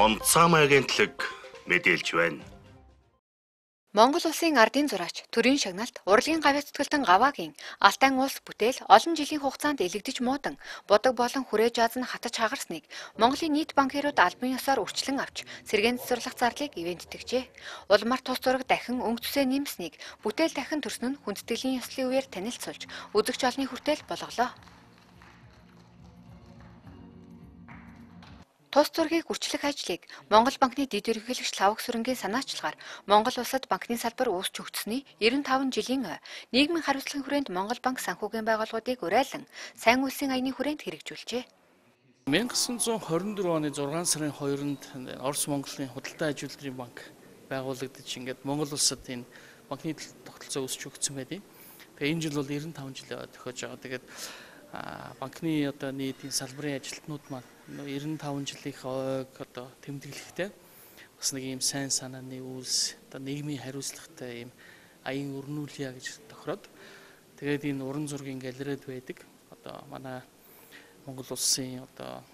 Монцам агентлаг мэдээлж байна. Монгол улсын ардын зураач төрийн шагналт урлагийн гавь зүтгэлтэн Гаваагийн Алтай улс бүтээл олон жилийн хугацаанд элэгдэж муудан бодог болон хүрээ жааз нь хатаж хагарсныг Монголын нийт банкирууд албан ёсоор үрчлэн авч сэргээн цэцэрлэх зарлыг ивэнттэгжээ. Улмаар тус зураг дахин өнгө цэсээ нэмснийг бүтээл дахин төрсөн нь хүндэтгэлийн ёслолын үеэр танилцуулж үзэгч олны хүртэл болголоо. Тус зургийг үрчлэх ажлыг Монгол банкны дэд ерөнхийлөгч Лавг Сүрэнгийн санаачлагаар Монгол улсад банкны салбар үүсч өгдсөний 95 жилийн нийгмийн хариуцлагын хүрээнд Монгол банк санхүүгийн байгууллагуудыг уриалан сайн үлсийн аяны хүрээнд хэрэгжүүлжээ. 1924 оны 6 сарын 2-нд Орос Монголын худалдан ажилтны банк байгуулагдаж ингээд Монгол улсад энэ банкны тогтолцоо үүсч өгсөн байдیں۔ Тэгээ энэ жил бол 95 жил тохиож байгаа. Тэгээд банкны одоо нийтийн салбарын ажилтнууд маань 95 жилийнх ойг одоо тэмдэглэхдээ бас нэг ийм сайн санааны үйлс одоо нийгмийн хариуцлагатай ийм аян өрнүүлье гэж тохироод тэгээд энэ уран зургийн галерейд байдаг одоо манай Монгол улсын одоо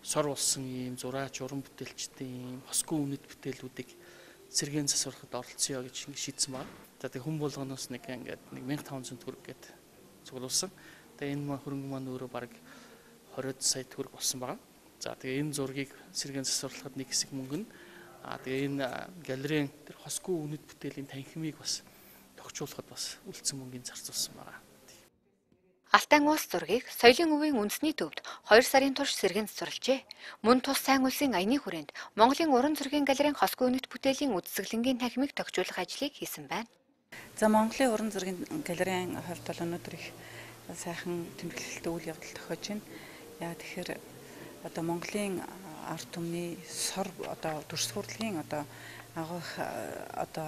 сор болсон ийм зураач уран бүтээлчдийн ийм хосгүй үнэт бүтээлүүдийг сэргээн засвархад оролцъё гэж шийдсэн байна. За тэг хүн болгоноос нэг ингээд 1500 төгрөг гээд цуглуулсан. Тэгээ энэ хөрөнгө маань өөрөө бараг 20 сая төгрөг болсон байгаа. За тэгээ энэ зургийг сэргээн засварлахад нэг хэсэг мөнгө нь тэгээ энэ галерейн тэр хосгүй үнэт бүтээлийн танхимыг бас тогтчуулахад бас үлдсэн мөнгөний зарцуулсан байгаа. Алтай улс зургийг соёлын өвийн үндэсний төвд 2 сарын турш сэргээн засварлажээ. Мөн тус сайн улсын аяны хүрээнд Монголын уран зургийн галерейн хосгүй үнэт бүтээлийн үдсгэлэнгийн танхимыг тогтчуулах ажлыг хийсэн байна. За Монголын уран зургийн галерейн хувьд бол өнөөдөр их сайхан тэмдэглэлтэй үйл явдал тохиож байна. Яа тэгэхээр одоо Монголын ард түмний сор одоо дүрс хурлын одоо агуулх одоо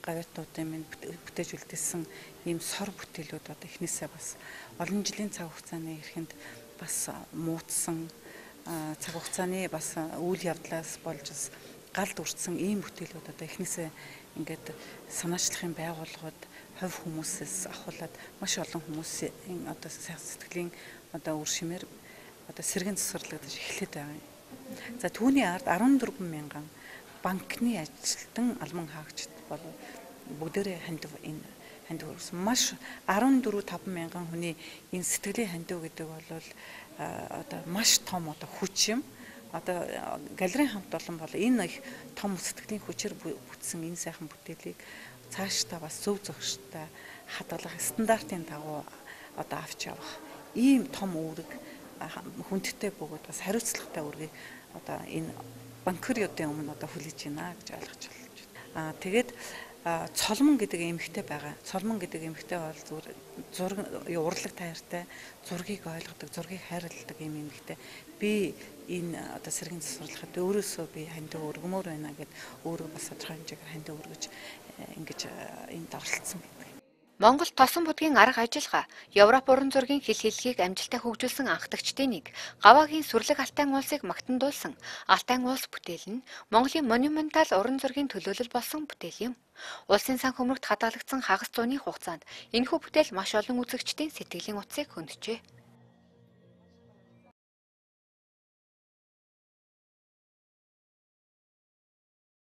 гавьяатнуудын минь бүтээж үлдээсэн ийм сор бүтээлүүд одоо эхнээсээ бас олон жилийн цаг хугацааны эрхэнд бас муутсан цаг хугацааны бас үйл явдлаас болж бас галд үрдсэн ийм бүтээлүүд одоо эхнээсээ ингээд санаачлахын байгууллагууд хувь хүмүүсээс ахуулаад маш олон хүмүүсийн одоо сэтгэлийн одоо үр шимээр одоо сэргээн засварлагдаж эхлэхэд байгаа юм. За түүний ард 14 мянган банкны ажилтан албан хаагчид бол бүгдээрээ хандив өргөсөн. Маш 14-5 мянган хүний энэ сэтгэлийн хандив гэдэг бол одоо маш том одоо хүч юм. Одоо галерейн хамт олон бол энэ их том сэтгэлийн хүчээр бүтсэн энэ сайхан бүтээлийг цаашдаа бас зөв зохистой хадгалах стандартын дагуу одоо авч явах ийм том үүрэг хүндтэй бөгөөд бас хариуцлагатай үүргийг одоо энэ банкируудын өмнө одоо хүлээж байна гэж ойлгож байна. Тэгээд цолмон гэдэг эмэгтэй байгаа. Цолмон гэдэг эмэгтэй бол зураг урлаг таартай зургийг ойлгодог, зургийг хайрладаг юм эмэгтэй. Би энэ одоо сэргээн засварлахад өөрөөсөө би хандив өргөмөр байна гэд өөрөө бас тодорхой хэмжээгээр хандив өргөж ингэж энд оролцсон байдаг. Монгол тосон будгийн арга ажиллагаа Европ уран зургийн хэл хэллэгийг амжилттай хөгжүүлсэн анхдагчдын нэг Гаваагийн сүрлэг Алтай улсыг магтандуулсан Алтай улс бүтээл нь Монголын монументал уран зургийн төлөөлөл болсон бүтээл юм. Улсын санхүүмрэгт хадгалагдсан хагас зууны хугацаанд энэхүү бүтээл маш олон үзэгчдийн сэтгэлийн утсыг хөндөжээ.